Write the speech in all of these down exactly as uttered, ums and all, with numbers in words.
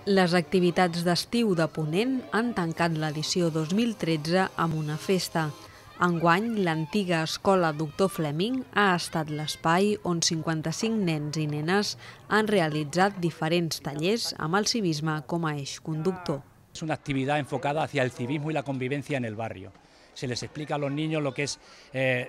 Les activitats d'estiu de Ponent han tancat l'edició dos mil tretze amb una festa. Enguany, l'antiga escola Doctor Fleming ha estat l'espai on cinquanta-cinc nens i nenes han realitzat diferents tallers amb el civisme com a eix conductor. Es una actividad enfocada hacia el civismo y la convivencia en el barrio. Se les explica a los niños lo que es, eh,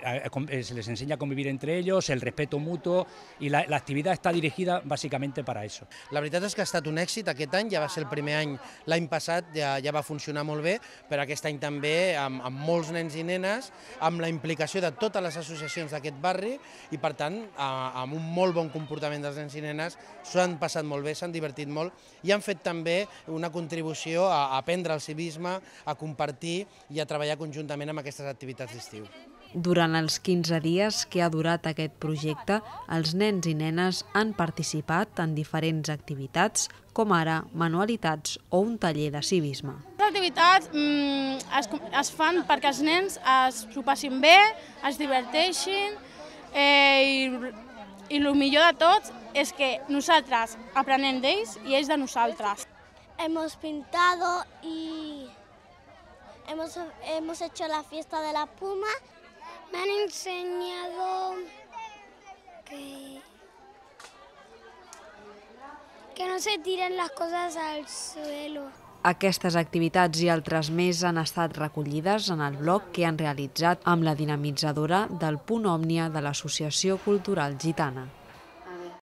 se les enseña a convivir entre ellos, el respeto mutuo, y la, la actividad está dirigida básicamente para eso. La veritat és que ha estat un èxit aquest any, ja va ser el primer any, l'any passat ja, ja va funcionar molt bé, però aquest any també amb, amb molts nens i nenes, amb la implicació de totes les associacions d'aquest barri i per tant amb un molt bon comportament dels nens i nenes, s'ho han passat molt bé, s'han divertit molt i han fet també una contribució a aprendre el civisme, a compartir i a treballar conjuntament amb aquestes activitats d'estiu. Durant els quinze dies que ha durat aquest projecte, els nens i nenes han participat en diferents activitats, com ara manualitats o un taller de civisme. Les activitats mm, es, es fan perquè els nens es ho passin bé, es diverteixin eh, i, i el millor de tot és que nosaltres aprenem d'ells i ells de nosaltres. Hemos pintado y hemos, hemos hecho la fiesta de la puma. Me han enseñado que, que no se tiren las cosas al suelo. Aquestes activitats i altres més han estat recollides en el blog que han realitzat amb la dinamitzadora del Punt Òmnia de l'Associació Cultural Gitana.